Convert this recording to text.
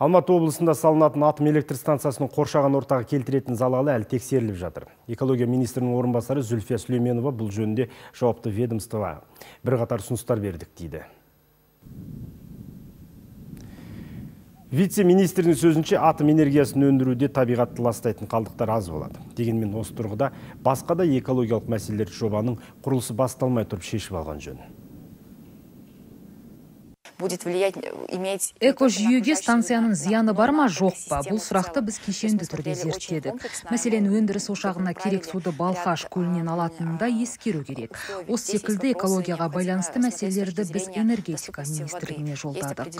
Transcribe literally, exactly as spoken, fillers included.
Алматы облысында салынатын атом электр станциясының қоршаған ортаға келтіретін залалы әлі тексеріліп жатыр. Экология министрінің орынбасары Зүлфия Сүлейменова бұл жөнінде жауапты ведомствоға бірқатар ұсыныстар бердік дейді. Вице-министрдің сөзінше атом энергиясын өндіруде табиғатты ластайтын қалдықтар аз болады. Дегенмен осы тұрғыда басқа да экологиялық мәселелер жобаның құрылысы басталмай тұрып шешіп алған жөн. Экожүйеге станцияның зияны бар ма, жоқ па? Бұл сұрақты біз кешенді түрде зерттедік. Мәселен, өндіріс ошағына керек суды Балқаш көлінен алатынын да ескеру керек. Осы секілді экологияға байланысты мәселелерді біз энергетика министрлігіне жолдадық.